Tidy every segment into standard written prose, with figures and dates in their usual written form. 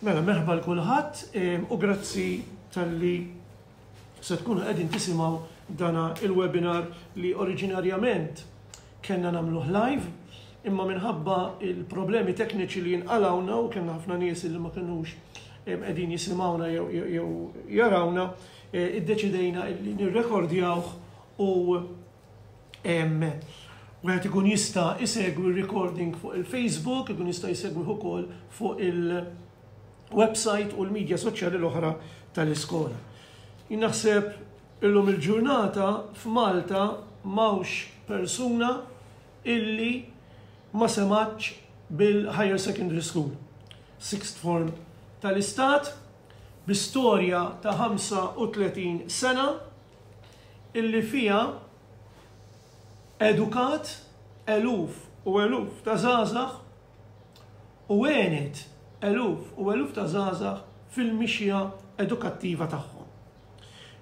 Mela, merħba l kulħadd u grazzi talli se tkunu qegħdin tisimgħu dana il-webinar li oriġinarjament kellna nagħmluh live, imma minħabba il-problemi tekniċi li jinqalawna u kellna ħafna nies li ma kinux qegħdin jisimgħuna jew jarawna, iddeċidejna li nirrekordjawh u wieħed ikun jista' isegwi r-recording fuq il-Facebook, ikun jista' jsegwih ukoll fuq il-website u l-medja soċjali l-oħra tal-iskola. Jien naħseb illum il-ġurnata f'Malta m'hawnx persuna illi ma sematx bil-Higher Secondary School, sixth form tal-istat, bi storja ta' 35 sena illi fiha edukat eluf u eluf ta' żgħażagħ u għenet eluf u eluf ta' żgħażagħ fil-mixja edukattiva tagħhom.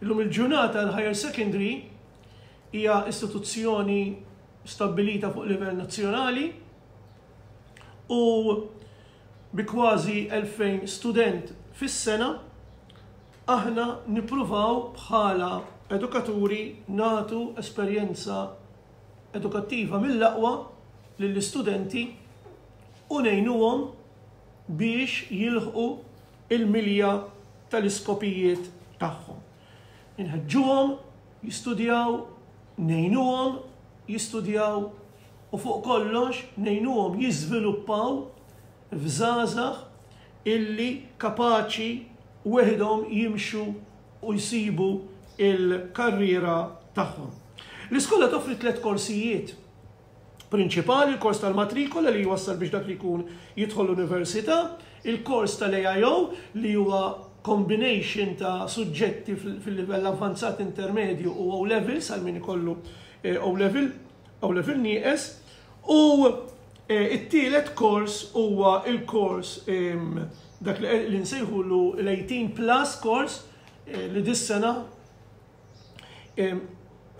Illum il-ġurnata l-Higher Secondary hija istituzzjoni stabbilita fuq livell nazzjonali u bi kważi 2000 student fis-sena aħna nippruvaw bħala edukaturi nagħtu esperjenza edukattiva mill-aqwa lill-istudenti u ngħinuhom biex jilħqu il-milja tal-iskopijiet tagħhom. Inħeġġuhom jistudjaw, ngħinuhom jistudjaw u fuq kollox ngħinuhom jiżviluppaw f'żgħażagħ illi kapaċi weħidhom jimxu u jsibu l-karriera tagħhom. L-iskola toffri tliet korsijiet prinċipali, il-kors tal-matrikola li jwassal biex dak li jkun jidħol l-università, il-kors tal-AIO li huwa combination ta' suġġetti fil-livell avvanzat, intermedju u O-levels għal min ikollu O-level, O-level nieqes, u it-tielet kors huwa il-kors dak li nsejħulu l-18 plus kors li dis-sena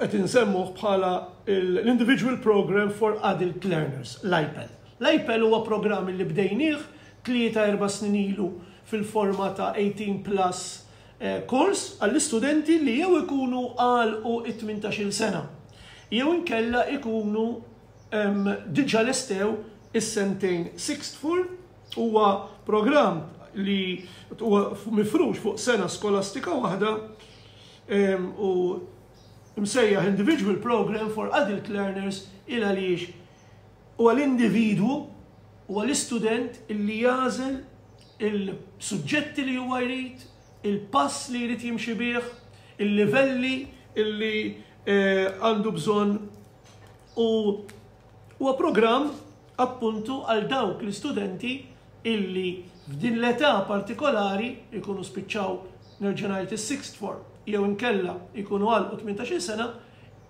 qed insemmuh bħala l-Individual Program for Adult Learners, l-IPEL. L-IPEL huwa programm li bdejnieh 3-4 snin ilu fil-forma ta' 18 plus kors għall-istudenti li jew ikunu għalqu it-18 sena jew inkella ikunu diġà lestew is-sentejn sixth form. Huwa programm li huwa mifrux fuq sena skolastika waħda u msejjaħ Individual Program for Adult Learners il għaliex huwa l-individwu, huwa l-istudent li jagħżel il-suġġetti li huwa jrid, il-pass li jrid jimxi bih, il-livelli li għandu bżonn, u huwa programm appuntu għal dawk l-istudenti illi f'din l-età partikolari jkunu spiċċaw, nerġa' ngħid, is-sixth form jew inkella jkunu għalqu 18-il sena,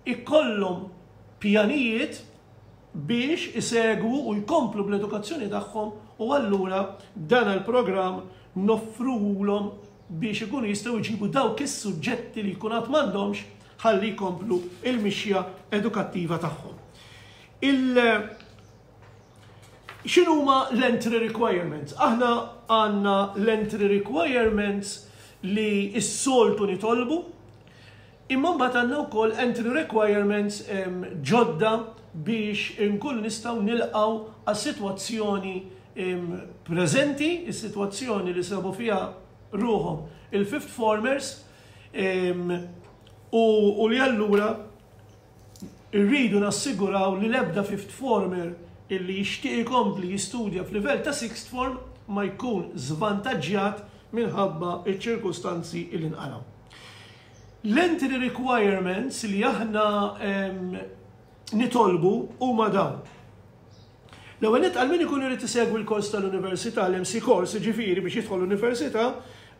ikollhom pjanijiet biex isegwu u jkomplu bl-edukazzjoni tagħhom, u allura dan il-programm noffruhulhom biex ikunu jistgħu jġibu dawk is-suġġetti li jkun għad m'għandhomx ħalli jkomplu il-mixja edukattiva tagħhom. Il X'inhuma l-entry requirements? Aħna għandna l-entry requirements li s-soltu nitolbu, imma mbagħad għandna wkoll entry requirements ġodda biex inkunu nistgħu nilqgħu għas-sitwazzjoni preżenti, is-sitwazzjoni li sabu fiha ruħhom il-fifth formers u li allura rridu nassiguraw li l-ebda fifth former illi jixtieq ikompli jistudja f'livell ta' sixth form ma jkun żvantaġġjat minħabba ċ-ċirkustanzi li nqalgħu. L-entry requirements li aħna nitolbu huma dawn. L-ewwel nett, għal min ikun irid isegwi l-kors tal-università, l-MC course, ġifieri biex jidħol l-università,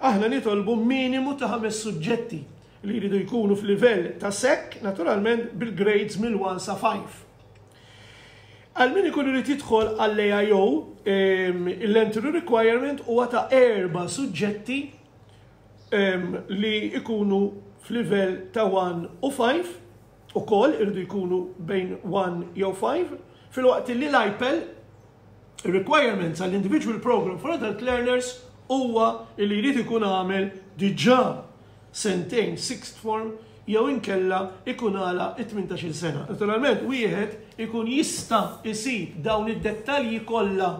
aħna nitolbu minimu ta' ħames suġġetti li jridu jkunu f'livell ta' SEC, naturalment bil-grades mill-1 sa 5. Għal min ikun irid jidħol għall-AIO, l-entry requirement huwa ta' erba' suġġetti li ikunu f'livell ta' 1 u 5, ukoll irridu jkunu bejn 1 jew 5, filwaqt li l-IPEL requirements għall-Individual Program for Adult Learners huwa li jrid ikun għamel diġà sentejn sixth form jew inkella ikun għalaq it-18-il sena. Naturalment wieħed ikun jista' jsib dawn id-dettalji kollha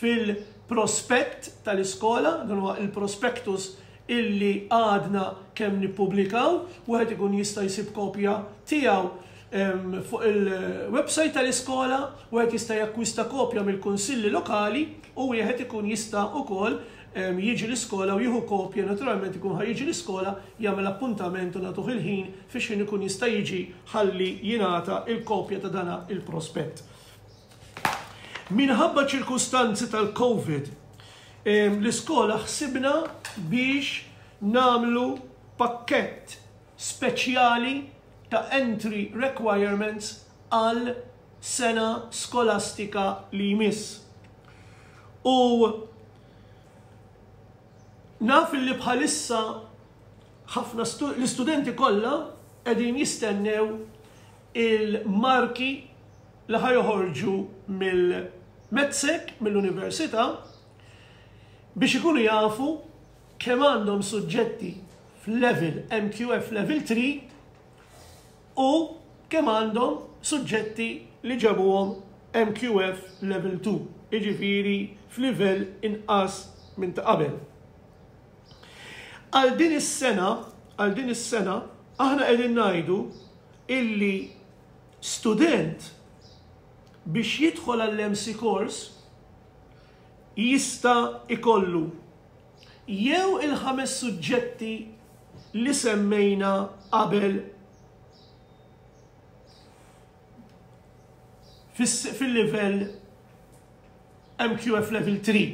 fil-prospett tal-iskola, dan huwa il-prospectus illi għadna kemm nippubblikaw, wieħed ikun jista' jsib kopja tiegħu fuq il-website tal-iskola, wieħed jista' jakkwista kopja mill-kunsilli lokali u wieħed ikun jista' ukoll jiġi l-iskola u jieħu kopja, naturalment ikun ħa jiġi l-iskola, jagħmel appuntament u nagħtuh il-ħin fiex ħin ikun jista' jiġi ħalli jingħata il-kopja ta' dana il-prospett. Minħabba ċirkustanzi tal-Covid, l-iskola ħsibna biex nagħmlu pakkett speċjali ta' entry requirements għal sena skolastika li jmiss. U naf li bħalissa ħafna l-istudenti kollha qegħdin jistennew il-marki li ħa joħorġu mill-MATSEC, mill-università, biex ikunu jafu kemm għandhom suġġetti f'level MQF level 3 u kemm għandhom suġġetti li ġabuhom MQF level 2, jiġifieri f'livell inqas minn ta' qabel. Għal din is-sena, għal din is-sena, aħna qegħdin ngħidu illi student biex jidħol għall-MC course jista' ikollu jew il-ħames suġġetti li semmejna qabel fil-livell MQF level 3.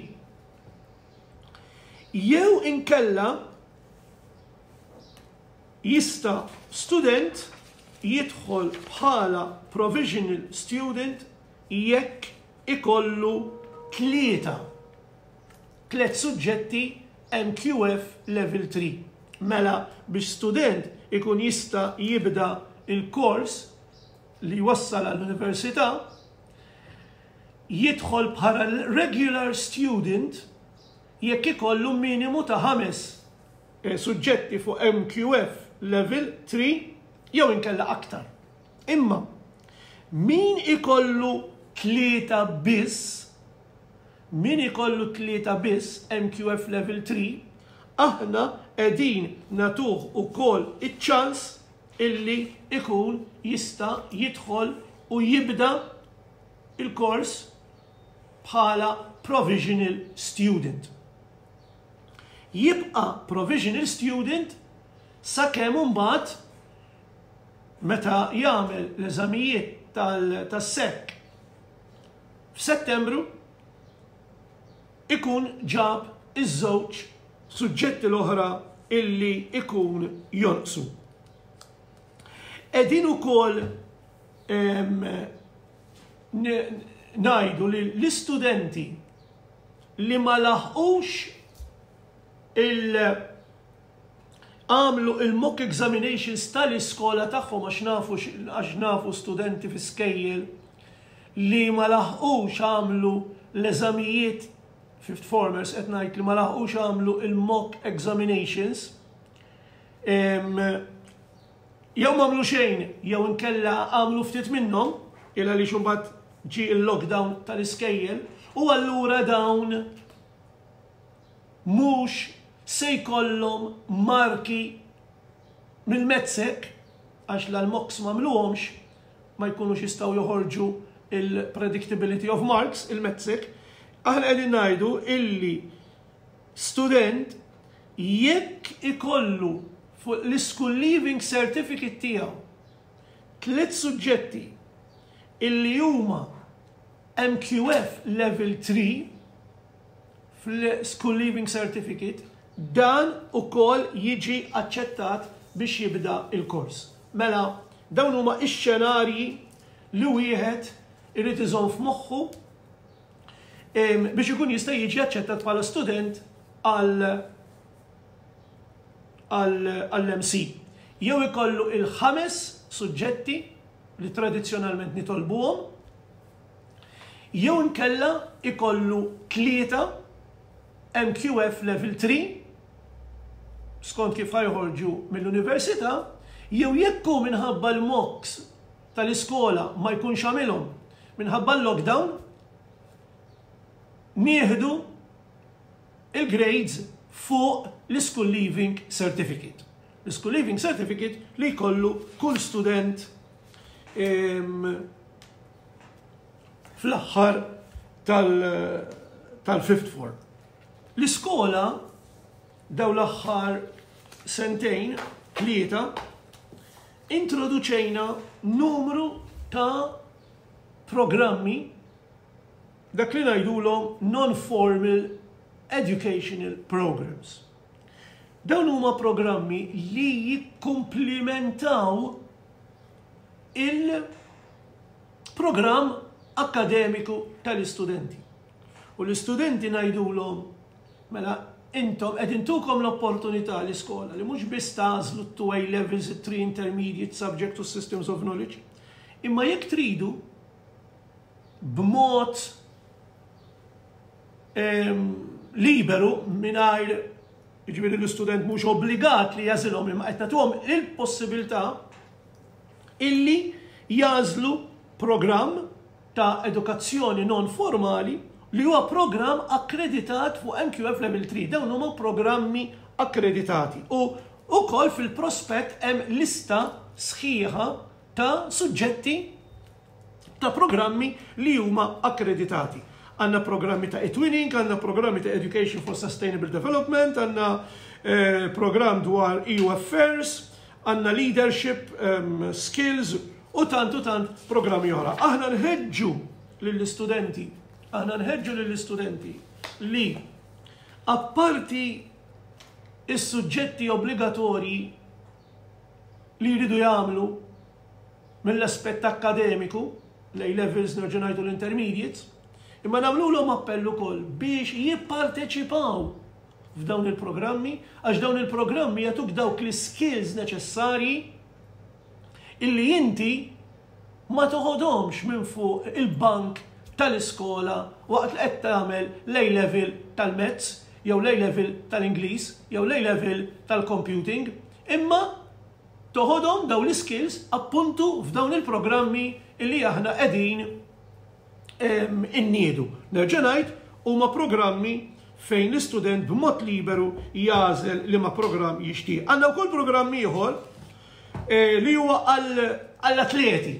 Jew inkella jista' student jidħol bħala provisional student jekk ikollu tlieta, tlet suġġetti MQF level 3. Mela biex student ikun jista' jibda il-kors li jwassal għall-università, jidħol bħala regular student jekk ikollu minimu ta' ħames suġġetti fuq MQF level 3 jew inkella aktar. Imma min ikollu tlieta biss, min ikollu tlieta biss MQF level 3, aħna qegħdin nagħtuh ukoll iċ-ċans illi ikun jista' jidħol u jibda il-kors bħala provisional student. Jibqa' provisional student sakemm imbagħad meta jagħmel l-eżamijiet tas-SEC f'Settembru ikun ġab iż-żewġ suġġetti l-oħra illi ikun jonqsu. Qegħdin ukoll ngħidu li l-istudenti li ma laħqux il għamlu il-mock examinations tal-iskola tagħhom, għax nafu għax nafu studenti fi skejjel li ma laħqux għamlu l-eżamijiet, fifth formers qed ngħid, li ma laħqux għamlu il-mock examinations, jew m'għamlu xejn jew inkella għamlu ftit minnhom il għaliex imbagħad ġie il-lockdown tal-iskejjel u allura dawn mhux se jkollhom marki mill-MATSEC għax l-mocks m'għamluhomx, ma jkunux jistgħu joħorġu il-predictability of marks il-MATSEC. Aħna qegħdin ngħidu illi student jekk ikollu fuq l-school leaving certificate tiegħu tliet suġġetti illi huma MQF level 3 fl-school leaving certificate, dan ukoll jiġi aċċettat biex jibda il-kors. Mela, dawn huma ix-xenarji li wieħed irid iżomm f'moħħu biex ikun jista' jiġi aċċettat bħala student għall-MC. Jew ikollu il-ħames suġġetti li tradizzjonalment nitolbuhom, jew inkella ikollu tlieta. MQF Level 3 skont kif ħa joħorġu mill-università, jew jekk hu minħabba l-mocks tal-iskola ma jkunx għamilhom minħabba l-lockdown, nieħdu il-grades fuq l-School Leaving Certificate. L-School Leaving Certificate li jkollu kull student fl-aħħar tal-fifth form. L-iskola daw l-aħħar sentejn, tlieta, introduċejna numru ta' programmi, dak li ngħidulhom non-formal educational programs. Dawn huma programmi li jikkumplimentaw il-programm akkademiku tal-istudenti. U l-istudenti ngħidulhom, mela intom qed intukom l-opportunità l-iskola li mhux biss tagħżlu t-2 A levels, it-3 intermediate subject u systems of knowledge, imma jekk tridu b'mod liberu, mingħajr, jiġifieri, l-istudent mhux obbligat li jagħżilhom, imma qed nagħtuhom il-possibilità illi jagħżlu programm ta' edukazzjoni non formali li huwa programm akkreditat fuq MQF Level 3. Dawn huma programmi akkreditati. U ukoll fil-prospett hemm lista sħiħa ta' suġġetti ta' programmi li huma akkreditati. Għandna programmi ta' eTwinning, għandna programmi ta' Education for Sustainable Development, għandna program dwar EU Affairs, għandna leadership skills u tant u tant programmi oħra. Aħna nħeġġu lill-istudenti, aħna nħeġġu lill-istudenti li apparti is-suġġetti obbligatorji li jridu jagħmlu mill-aspett akkademiku, l-A levels, nerġa' ngħidu l-intermediates, imma nagħmluhom appell ukoll biex jipparteċipaw f'dawn il-programmi, għax dawn il-programmi jagħtuk dawk l-skills neċessarji illi inti ma toħodhomx minn fuq il-bank tal-iskola waqt li qed tagħmel l-A level tal-Maths jew l-A level tal-Ingliż jew l-A level tal-computing, imma toħodhom dawn l-skills appuntu f'dawn il-programmi illi aħna qegħdin inniedu. Nerġa' ngħid, huma programmi fejn l-istudent b'mod liberu jagħżel liema programm jixtieq. Għandna wkoll programm ieħor li huwa għall-atleti,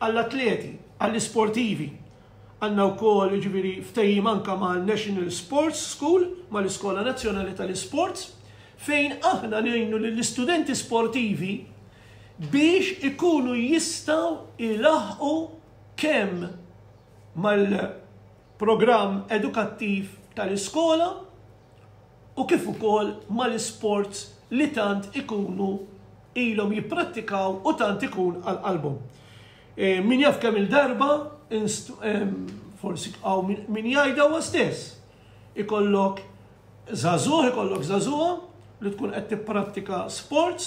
għall-atleti, għall-isportivi. Għandna wkoll, jiġifieri, ftehim anka mal-National Sports School, mal-Iskola Nazzjonali tal-Isports, fejn aħna ngħinu lill-istudenti sportivi biex ikunu jistgħu ilaħqu kemm mal-programm edukattiv tal-iskola u kif ukoll mal-isports li tant ikunu ilhom jipprattikaw u tant ikun għal qalbhom. Min jaf kemm il-darba, forsi hawn min jgħidha huwa stess. Ikollok żagħżugħ, ikollok żagħżugħa li tkun qed tipprattika sports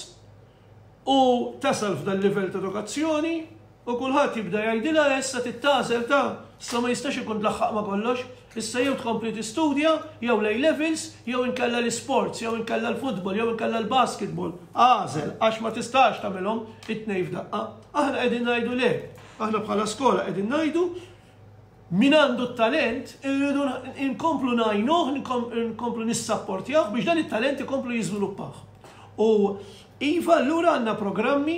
u tasal f'dan livell ta' edukazzjoni u kulħadd jibda jgħidilha: issa tagħżel ta', issa ma jistax ikun tlaħħaq ma' kollox, issa jew tkompli tistudja, jew l levels, jew inkella l-sports, jew inkella l-futbol, jew inkella l-basketball. Agħżel, għax ma tistax tagħmilhom it-tnejn f'daqqa. Aħna qegħdin ngħidu le. Aħna bħala skola qegħdin ngħidu min għandu t-talent irridu nkomplu ngħinuh, nkomplu nissapportjawh biex dan it-talent ikomplu jiżviluppah. U iva, allura għandna programmi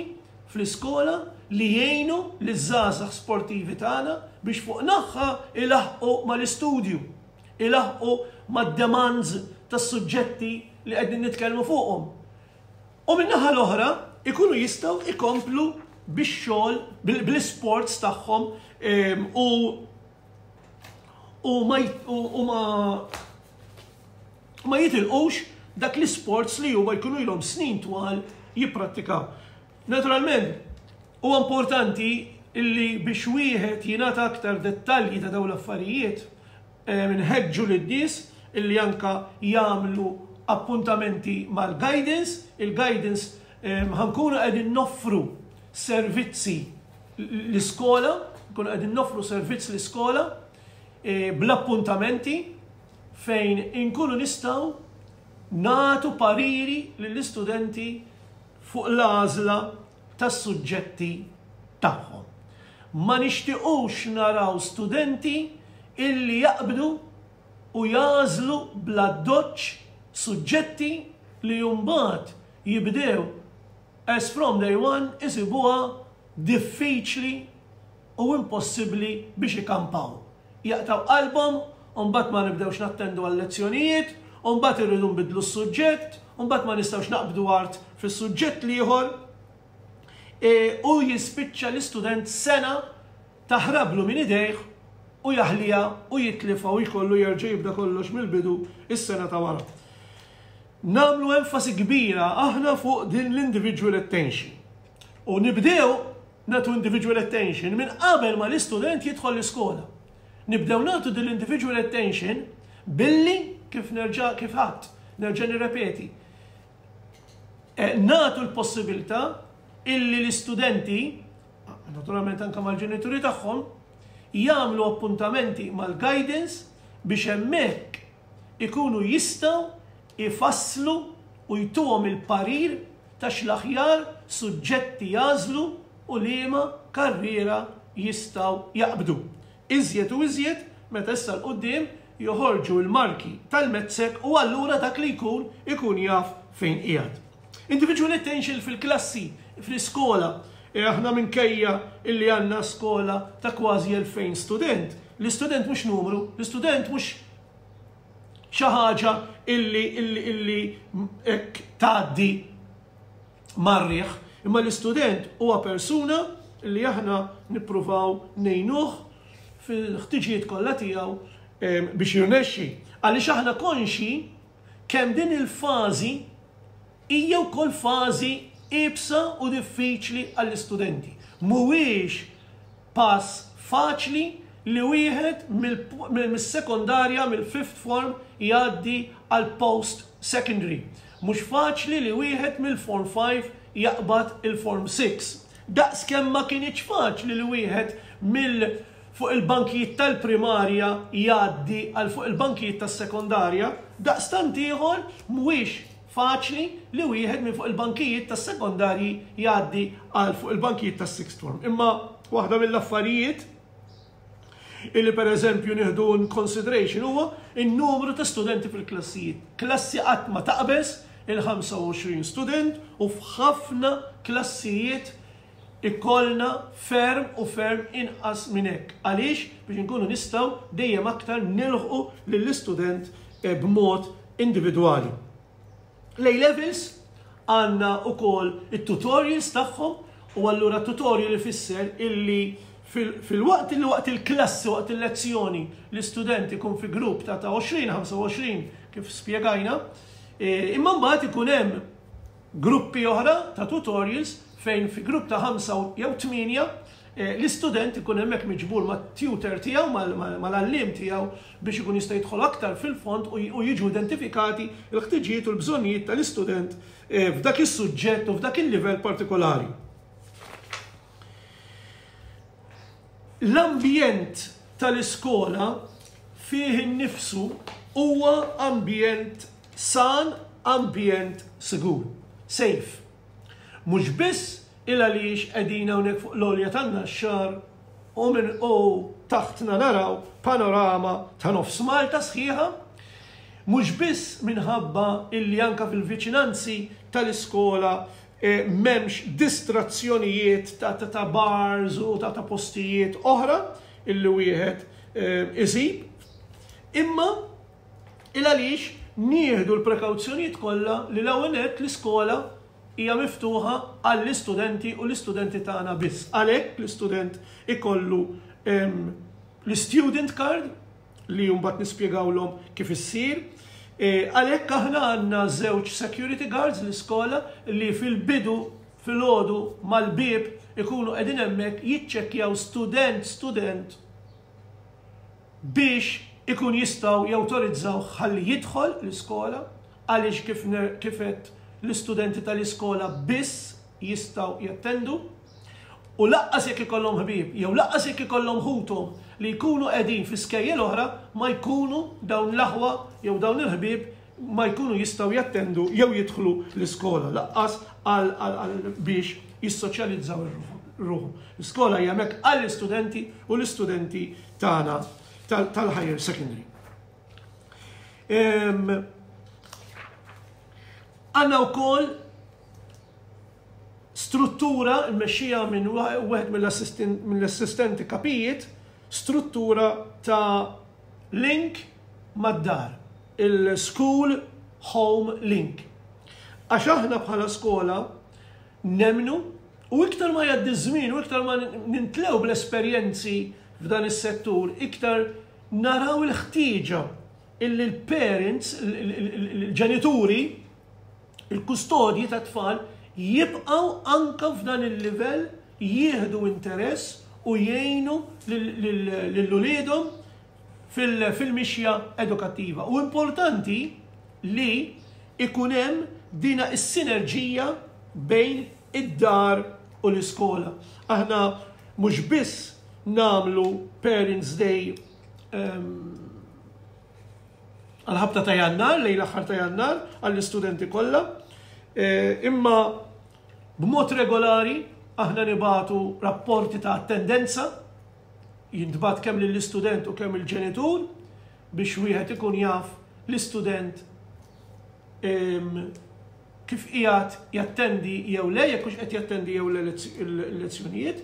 fl-iskola li jgħinu liż-żgħażagħ sportivi tagħna biex fuq naħa ilaħqu mal-istudju, ilaħqu mad-demands tas-suġġetti li qegħdin nitkellmu fuqhom. U min-naħa l-oħra ikunu jistgħu ikomplu bix-xogħol bl-isports tagħhom u ma jitilqux dak l-sports li huma jkunu ilhom snin twal jipprattikaw. Naturalment, huwa importanti illi biex wieħed jingħata aktar dettalji ta' dawn l-affarijiet, nħeġġu lin-nies illi anka jagħmlu appuntamenti mal-guidance. Il-guidance, ħa nkunu qegħdin noffru servizzi l-iskola, nkunu qegħdin noffru servizz l-iskola bl-appuntamenti. fejn inkunu nistgħu nagħtu pariri lill-istudenti fuq l-għażla tas-suġġetti tagħhom. Ma nixtiqux naraw studenti illi jaqbdu u jagħżlu bl-addoċċ suġġetti li mbagħad jibdew as from day one isibuha diffiċli u impossibbli biex ikampaw. Jaqtgħu qalbhom u mbagħad ma nibdewx nattendu għal-lezzjonijiet, u mbagħad irridu nbiddlu s-suġġett, u mbagħad ma nistgħux naqbdu art fis-suġġett l-ieħor e, u jispiċċa l-istudent sena taħrablu minn idejh u jaħliha u jitlifha u jkollu jerġa' jibda kollox mill-bidu is-sena ta' wara. Nagħmlu enfasi kbira aħna fuq din l-individual attention. U nibdew nagħtu individual attention minn qabel ma l-istudent jidħol l-iskola. Nibdew nagħtu din l-individual attention billi kif nerġa' kif ħadd, nerġa' nirrepeti. Eh, nagħtu l-possibilità illi l-istudenti, naturalment anke mal-ġenituri tagħhom, jagħmlu appuntamenti mal-guidance biex hemmhekk ikunu jistgħu ifasslu u jtuhom il-parir ta' x'l-aħjar suġġetti jagħżlu u liema karriera jistgħu jaqbdu. Iżjed u iżjed meta issa 'l quddiem joħorġu l-marki tal-MATSEC u allura dak li jkun ikun jaf fejn qiegħed. Individual attention fil-klassi, fl-iskola. E aħna minkejja illi għandna skola ta' kważi 2000 student. L-istudent mhux numru, l-istudent mhux xi ħaġa illi illi illi hekk tgħaddi mar-riħ, imma l-istudent huwa persuna li aħna nippruvaw ngħinuh fil-ħtiġijiet kollha tiegħu biex jirnexxi. Għaliex aħna konxi kemm din il-fażi hija wkoll fażi iebsa u diffiċli għall-istudenti. Mhuwiex pass faċli li wieħed mis-sekondarja, mill-fifth form jgħaddi għal post secondary. Mhux faċli li wieħed mill-form 5 jaqbad il-form 6. Daqs kemm ma kinitx faċli li wieħed mill fuq il-bankijiet tal-primarja jgħaddi għal fuq il-bankijiet tas-sekondarja, daqstant ieħor mhuwiex faċli li wieħed minn fuq il-bankijiet tas-sekondarji jgħaddi għal fuq il-bankijiet tas-sixth form. Imma waħda mill-affarijiet illi per eżempju nieħdu in consideration huwa in-numru ta' studenti fil-klassijiet. Klassi qatt ma taqbeż il-25 student u f'ħafna klassijiet ikollna ferm u ferm inqas minn hekk. Għaliex? Biex inkunu nistgħu dejjem aktar nilħqu lill-istudent b'mod individwali. L-A levels għandna wkoll it-tutorials tagħhom u allura tutorial ifisser illi fil-waqt illi waqt il-klassi, waqt il-lezzjoni, l-istudent ikun fi grupp ta' 20-25 kif spjegajna, imma mbagħad ikun hemm gruppi oħra ta' tutorials fejn fi grupp ta' 5 jew 8 l-istudent ikun hemmhekk miġbur mat-tutor tiegħu, mal-għalliem tiegħu biex ikun jista' jidħol aktar fil-fond u jiġu identifikati l-ħtiġijiet u l-bżonnijiet tal-istudent f'dak is-suġġett u f'dak il-livell partikolari. L-ambjent tal-iskola fih innifsu huwa ambjent san, ambjent sigur, safe. Mhux biss il għaliex qegħdin hawnhekk fuq l-għolja tan-Naxxar u minn u taħtna naraw panorama ta' nofs Malta sħiħa, mhux biss minħabba illi anka fil-viċinanzi tal-iskola m'hemmx distrazzjonijiet ta' ta' bars u ta' ta' postijiet oħra illi wieħed isib, imma il għaliex nieħdu l-prekawzjonijiet kollha li l-ewwel nett l-iskola hija miftuħa għall-istudenti u l-istudenti tagħna biss. Għalhekk l-istudent ikollu l-student card li mbagħad nispjegawlhom kif issir. Għalhekk aħna għandna żewġ security guards l-iskola li fil-bidu filgħodu mal-bieb ikunu qegħdin hemmhekk jiċċekkjaw student student biex ikun jistgħu jawtorizzaw ħalli jidħol l-iskola għaliex kif kif l-istudenti tal-iskola biss jistgħu jattendu. U lanqas jekk ikollhom ħbieb jew lanqas jekk ikollhom ħuthom li jkunu qegħdin fi skejjel oħra ma jkunu dawn l-aħwa jew dawn il-ħbieb ma jkunu jistgħu jattendu jew jidħlu l-iskola lanqas għal biex jissoċjalizzaw ruħhom. L-iskola hija hemmhekk għall-istudenti u l-istudenti tagħna tal-higher secondary. Għandna wkoll struttura mmexxija minn wieħed mill-assistenti kapijiet, struttura ta' link mad-dar, il-school home link. Għax aħna bħala skola nemmnu u iktar ma jgħaddi żmien u iktar ma nintlew bl-esperjenzi f'dan is-settur, iktar naraw il-ħtieġa illi l-parents, il-ġenituri, il-kustodji ta' tfal jibqgħu anka f'dan il-livell jieħdu interess u jgħinu lil uliedhom fil-mixja edukattiva. U importanti li ikun hemm dina is-sinerġija bejn id-dar u l-iskola. Aħna mhux biss nagħmlu Parents Day għal-ħabta ta' Jannar, lejn l-aħħar ta' Jannar, għall-istudenti kollha. Imma b'mod regolari aħna nibagħtu rapporti ta' attendenza, jintbagħat kemm lill-istudent u kemm il-ġenitur biex wieħed ikun jaf l-istudent kif qiegħed jattendi jew le, jekk hux qed jattendi jew le l-lezzjonijiet.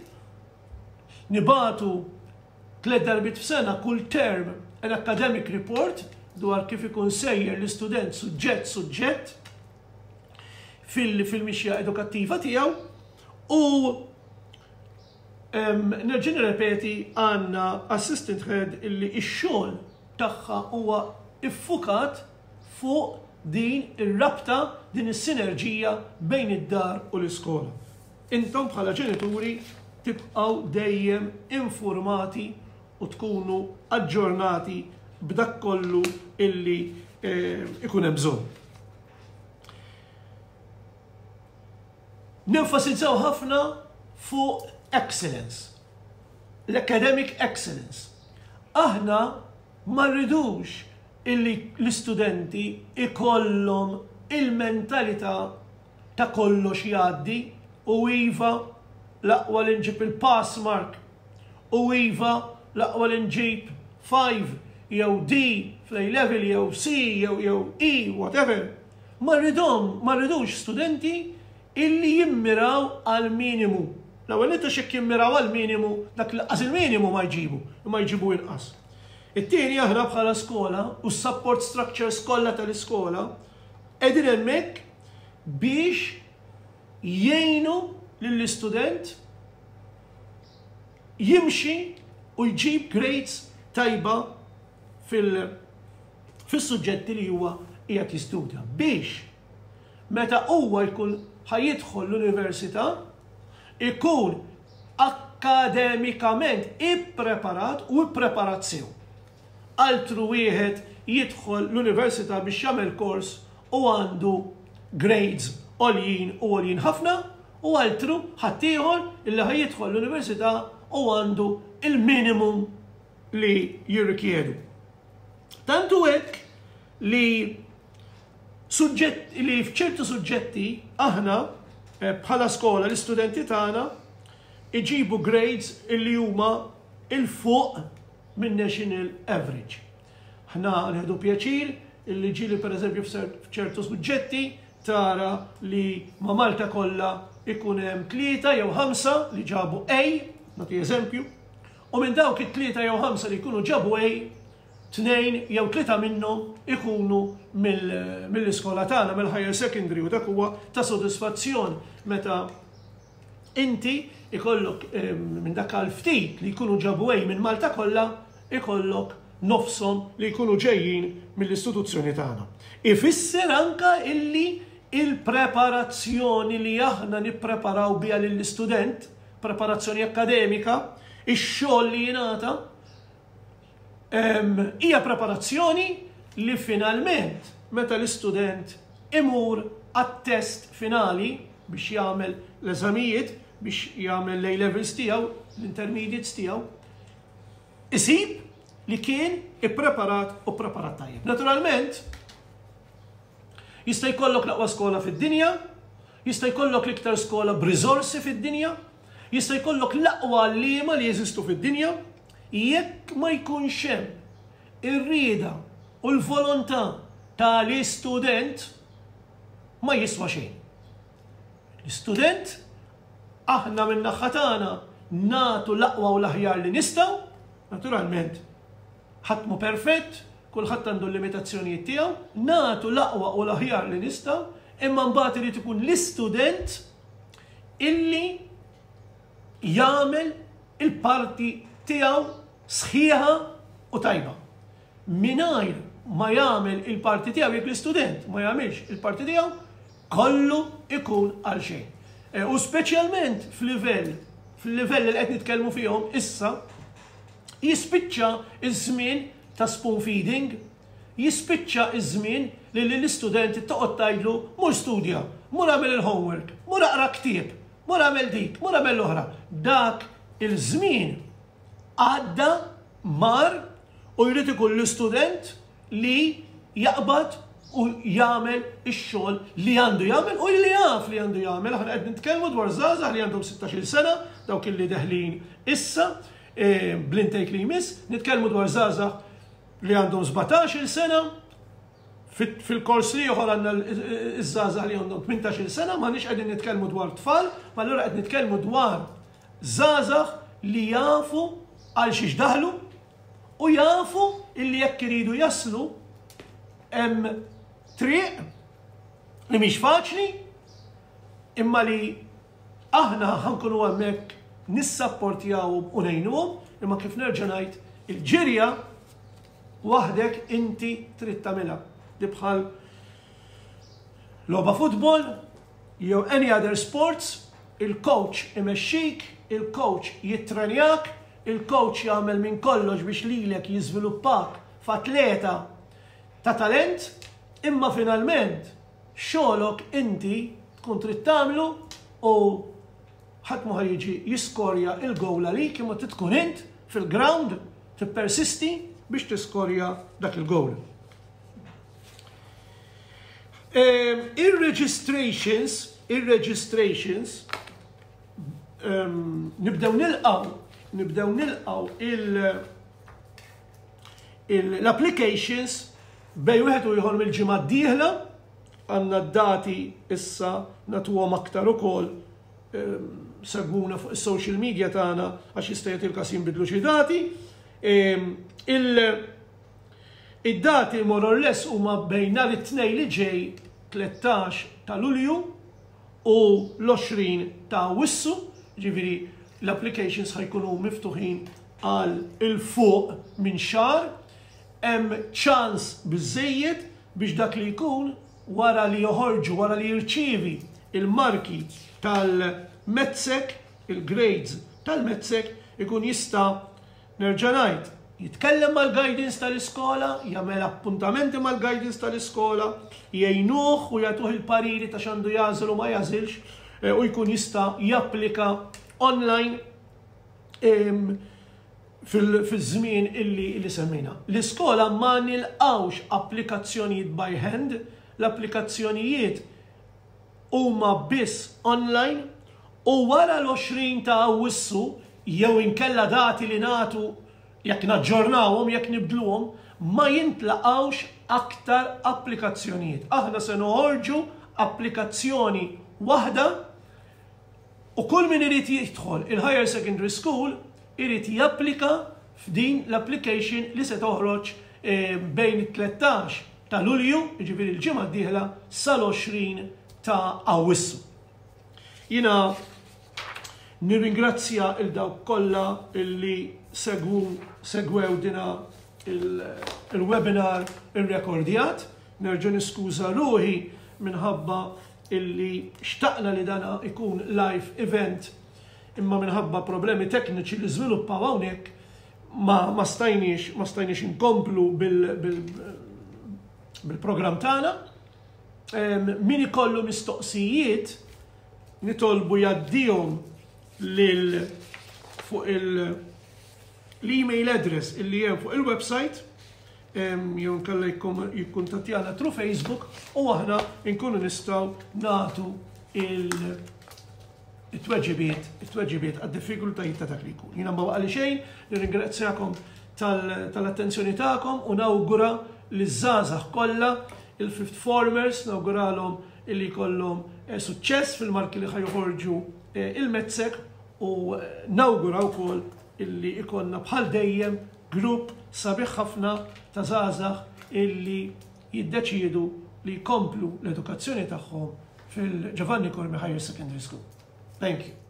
Nibagħtu 3 darbiet f'sena kull term an academic report dwar kif ikun sejjer l-istudent suġġett suġġett fil-mixja edukattiva tiegħu u nerġa' nirrepeti, għandna assistant head illi x-xogħol tagħha huwa iffukat fuq din ir-rabta, din is-sinerġija bejn id-dar u l-iskola. Intom bħala ġenituri tibqgħu dejjem informati u tkunu aġġornati b'dak kollu illi ikun hemm bżonn. Nenfasizzaw ħafna fuq excellence, l-academic excellence. Aħna ma rridux illi l-istudenti ikollhom il-mentalità ta' kollox jgħaddi u iva l-aqwa li nġib il-pass mark u iva l-aqwa li nġib 5 jew D fl-A level jew C jew E, whatever. Ma rridhom, ma rridux studenti illi jimmiraw għal minimu. L-ewwel nett għax jekk jimmiraw għal minimu, dak li qas il-minimu ma jġibu, imma jġibu inqas. It-tieni, aħna bħala skola u s-support structures kollha tal-iskola qegħdin hemmhekk biex jgħinu lill-istudent jimxi u jġib grades tajba fil-suġġetti li huwa qiegħed jistudja biex meta huwa jkun ħa jidħol l-università ikun akkademikament ippreparat u ippreparat sew. Altru wieħed jidħol l-università biex jagħmel kors u għandu grades għoljin u għoljin ħafna u altru ħaddieħor illi ħa jidħol l-università u għandu il-minimum li jirrikjedu. Tantu hekk li suġġett li f'ċertu suġġetti aħna bħala skola l-istudenti tagħna iġibu grades illi huma 'il fuq minn national average. Aħna nieħdu pjaċir illi ġieli, per eżempju, f'ċertu suġġetti tara li ma' Malta kollha ikun hemm tlieta jew ħamsa li ġabu A, nagħti eżempju, u minn dawk it-tlieta jew ħamsa li jkunu ġabu A, tnejn jew tlieta minnhom ikunu mill-iskola tagħna, mill-higher secondary, u dak huwa ta' sodisfazzjon meta inti ikollok minn dak għal ftit li jkunu ġabu A minn Malta kollha, ikollok nofshom li jkunu ġejjin mill-istituzzjoni tagħna. Ifisser anka illi il-preparazzjoni li aħna nippreparaw biha lill-istudent, preparazzjoni akademika, ix-xogħol li jingħata, hija preparazzjoni li finalment meta l-istudent imur għat-test finali biex jagħmel l-eżamijiet. biex jagħmel l-A levels tiegħu, l-intermediates tiegħu, isib li kien ippreparat u preparat tajjeb. Naturalment, jista' jkollok l-aqwa skola fid-dinja, jista' jkollok l-iktar skola b'riżorsi fid-dinja, jista' jkollok l-aqwa għalliema li jeżistu fid-dinja, jekk ma jkunx hemm ir-rieda u l-volontà tal-istudent ma jiswa xejn. L-istudent aħna min-naħa tagħna nagħtu l-aqwa u l-aħjar li nistgħu, naturalment ħadd mhu perfett, kulħadd għandu l-limitazzjonijiet tiegħu, nagħtu l-aqwa u l-aħjar li nistgħu, imma mbagħad irid ikun l-istudent illi jagħmel il-parti tiegħu sħiħa u tajba. Mingħajr ma jagħmel il-parti tiegħu jekk l-istudent ma jagħmilx il-parti tiegħu, kollu ikun għal xejn. U speċjalment f'livell, fil-livell li qed nitkellmu fihom issa, jispiċċa iż-żmien ta' spoon feeding, jispiċċa iż-żmien li l-istudent toqgħod tgħidlu mur studja, mur agħmel il-homework, mur aqra ktieb, mur agħmel dik, mur agħmel l-oħra. Dak il-żmien għadda mar u jrid ikun l-istudent li jaqbad u jagħmel ix-xogħol li għandu jagħmel u li jaf li għandu jagħmel. Aħna qed nitkellmu dwar żgħażagħ li għandhom 16-il sena, dawk li deħlin issa bl-intake li jmiss, nitkellmu dwar żgħażagħ li għandhom 17-il sena, fil-kors li ieħor għandna iż-żgħażagħ li għandhom 18-il sena, m'aħniex qegħdin nitkellmu dwar tfal, ma allura qed nitkellmu dwar żgħażagħ li jafu għal xiex daħlu u jafu illi jekk iridu jaslu hemm triq li mhix faċli imma li aħna ħa nkunu hemmhekk nissapportjawhom u ngħinuhom, imma kif nerġa' ngħid il-ġirja waħdek inti trid tagħmilha. Di bħal logħba futbol jew any other sports, il-coach imexxik, il-coach jittrenjak, il-coach jagħmel minn kollox biex lilek jiżviluppak f'atleta ta' talent, imma finalment xogħolok inti tkun trid tagħmlu u ħadd ma jiġi jiskorja il-goal għalik imma trid tkun int fil-ground tippersisti biex tiskorja dak il-goal. Ir-registrations, nibdew nilqgħu l-applications bejn wieħed u ieħor mill-ġimgħa d-dieħla. Għandna d-dati issa nagħtuhom aktar ukoll, segwuna fuq is-social media tagħna għax jista' jagħti l-każ jinbidlu xi dati. Id-dati more or less huma bejn nhar it-Tnejn li ġej 13 ta' Lulju u l-20 ta' Awwissu, ġifieri l-applications ħa jkunu miftuħin għal 'il fuq minn xahar. Hemm ċans biżejjed biex dak li jkun wara li joħorġu, wara li jirċievi il-marki tal-MATSEC, il-grades tal-MATSEC, ikun jista' nerġa' ngħid, jitkellem mal-guidance tal-iskola, jagħmel appuntamenti mal-guidance tal-iskola, jgħinuh u jagħtuh il-pariri ta' x'għandu jagħżel u ma jagħżilx u jkun jista' japplika online fil-żmien illi semmejna. L-iskola ma nilqawx applikazzjonijiet by hand, l-applikazzjonijiet huma biss online u wara l-20 ta' Awwissu jew inkella dati li nagħtu jekk naġġornawhom, jekk nibdluhom, ma jintlaqawx aktar applikazzjonijiet. Aħna se noħorġu applikazzjoni waħda u kull min irid jidħol il-Higher Secondary School irid japplika f'din l-application li se toħroġ bejn it-13 ta' Lulju, jiġifieri l-ġimgħa d-dieħla, sal-20 ta' Awwissu. Jiena nirringrazzja 'l dawk kollha illi segwew dina il-webinar irrekordjat. Nerġa' niskuża ruħi minħabba illi xtaqna li dana ikun live event imma minħabba problemi tekniċi li żviluppaw hawnhekk ma stajniex inkomplu bil-programm tagħna. Min ikollu mistoqsijiet nitolbu jgħaddihom. lil fuq il- l-email address illi hemm fuq il-website jew inkella jikkuntattjana through Facebook u aħna nkunu nistgħu nagħtu il-tweġibiet it-tweġibiet għad-diffikultajiet ta' dak li jkun. Jiena ma baqali xejn, nirringrazzjakom tal-attenzjoni tagħkom u nawgura liż-żgħażagħ kollha, il-fifth formers, nawguralhom illi jkollhom suċċess fil-marki li ħa joħorġu il-MATSEC u nawgura wkoll illi ikollna bħal dejjem grupp sabiħ ħafna ta' żgħażagħ illi jiddeċiedu li jkomplu l-edukazzjoni tagħhom fil-Giovanni Curmi Higher Secondary School. Thank you.